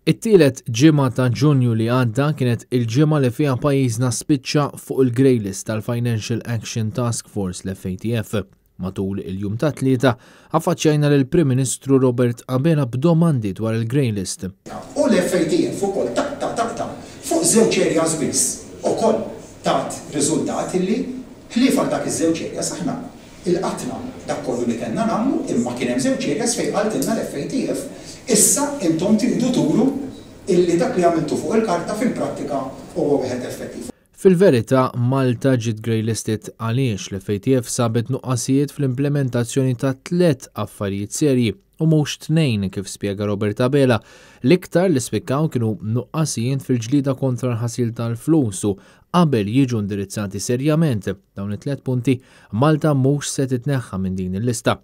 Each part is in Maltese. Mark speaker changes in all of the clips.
Speaker 1: It-tielet ġimgħa ta' Ġunju li għadda kienet il-ġimgħa li fiha pajjiżna spiċċa fuq il-grey list tal-Financial Action Task Force l-FATF. Matul il-jum tat-Tlieta, affaċċjajna lill-Prim Ministru Robert Abela b'domandi dwar il-grey list.
Speaker 2: U l-FATF ukoll taqta' taqta' fuq żewġ areas biss ukoll tat riżultat illi ħlief għal dak iż-żewġ areas aħna Ilqatna dak kollu li kellna nagħmlu imma kien hemm żewġ areas fejn qaltilna l-FATF issa intom tridu turu illi dak li għamiltu fuq il-karta fil-prattika huwa wieħed effettiv.
Speaker 1: Fil-verità, Malta ġiet greylisted għaliex l-FATF sabet nuqqasijiet fl-implementazzjoni ta' tlett affarijiet serji u mhux tnejn kif spjega Robert Abela. L-iktar li spikkaw kienu nuqqasijiet fil-ġlieda kontra l-ħasil tal-flus u qabel jiġu indirizzati serjament dawn it-tlett punti, Malta mhux se titneħħa minn din il-lista.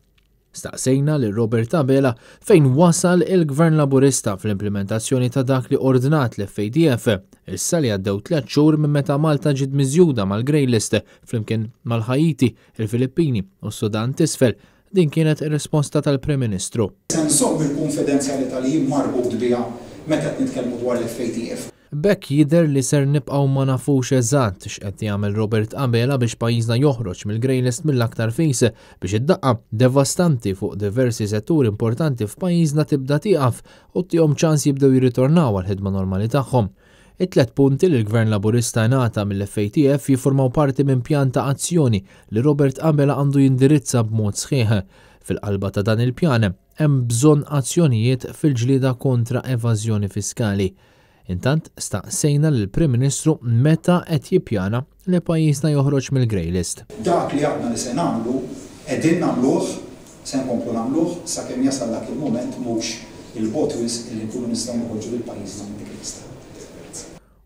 Speaker 1: Staqsejna lil Robert Abela fejn wasal il-Gvern Laburista fl-implementazzjoni ta' dak li ordnat l-FATF, issa li għaddew tlett xhur minn meta Malta ġiet miżjuda mal-grey list flimkien mal-Ħaiti, il-Filippini u s-Sudan t'Isfel. Din kienet ir-risposta tal-Prim Ministru.
Speaker 2: Se nżomm il-kunfidenzjalità li jien marbut biha meta qed nitkellmu dwar l-FATF.
Speaker 1: B'hekk jidher li ser nibqgħu ma nafux eżatt x'qed jagħmel Robert Abela biex pajjiżna joħroġ mill-grey list mill-aktar fis biex id-daqqa devastanti fuq diversi setturi importanti f'pajjiżna tibda tieqaf u ttihom ċans jibdew jirritornaw għall-ħidma normali tagħhom. It-tlett punti li l-Gvern Laburista ingħata mill-FATF jiffurmaw parti minn pjan ta' azzjoni li Robert Abela għandu jindirizza b'mod sħiħ. Fil-qalba ta' dan il-pjan hemm bżonn azzjonijiet fil-ġlieda kontra evażjoni fiskali. Intant staqsejna lill-Prim Ministru meta qed jippjana li pajjiżna joħroġ mill-grey list.
Speaker 2: Dak li għadna li se nagħmlu, qegħdin nagħmluh, se nkomplu nagħmluh sakemm jasal dak il-mument mhux 'il bogħod wisq illi nkunu nistgħu noħorġu lil pajjiżna minn dik il-lista.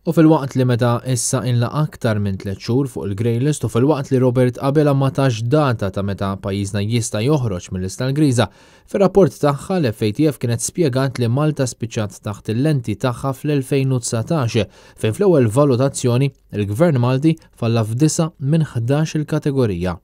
Speaker 1: U filwaqt li meta issa ilna aktar minn tlett xhur fuq il-grey list u filwaqt li Robert Abela ma tax data ta' meta pajjiżna jista' joħroġ mil-lista l-griża, fir-rapport tagħha l-FATF kienet spjegat li Malta spiċċat taħt il-lenti tagħha fl-2019 fejn fl-ewwel valutazzjoni il-Gvern Malti falla f'disa' minn 11-il kategorija.